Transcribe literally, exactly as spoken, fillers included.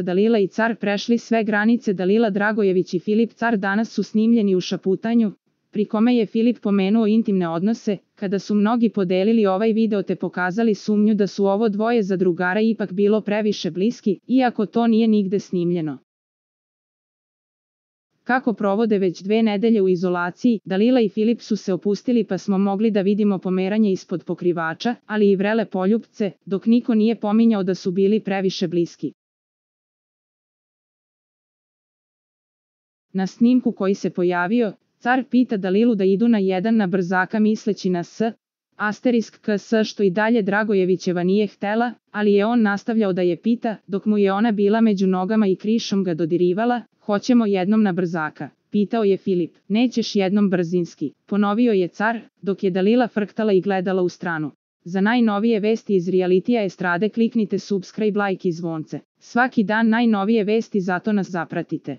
Dalila i car prešli sve granice. Dalila Dragojević i Filip Car danas su snimljeni u šaputanju, pri kome je Filip pomenuo intimne odnose, kada su mnogi podelili ovaj video te pokazali sumnju da su ovo dvoje zadrugara ipak bilo previše bliski, iako to nije nigde snimljeno. Kako provode već dve nedelje u izolaciji, Dalila i Filip su se opustili pa smo mogli da vidimo pomeranje ispod pokrivača, ali i vrele poljupce, dok niko nije pominjao da su bili previše bliski. Na snimku koji se pojavio, car pita Dalilu da idu na jedan na brzaka misleći na s, asterisk ks što i dalje Dragojevićeva nije htela, ali je on nastavljao da je pita, dok mu je ona bila među nogama i krišom ga dodirivala, hoćemo jednom na brzaka, pitao je Filip, nećeš jednom brzinski, ponovio je car, dok je Dalila frktala i gledala u stranu. Za najnovije vesti iz realitija estrade kliknite subscribe, like i zvonce. Svaki dan najnovije vesti, zato nas zapratite.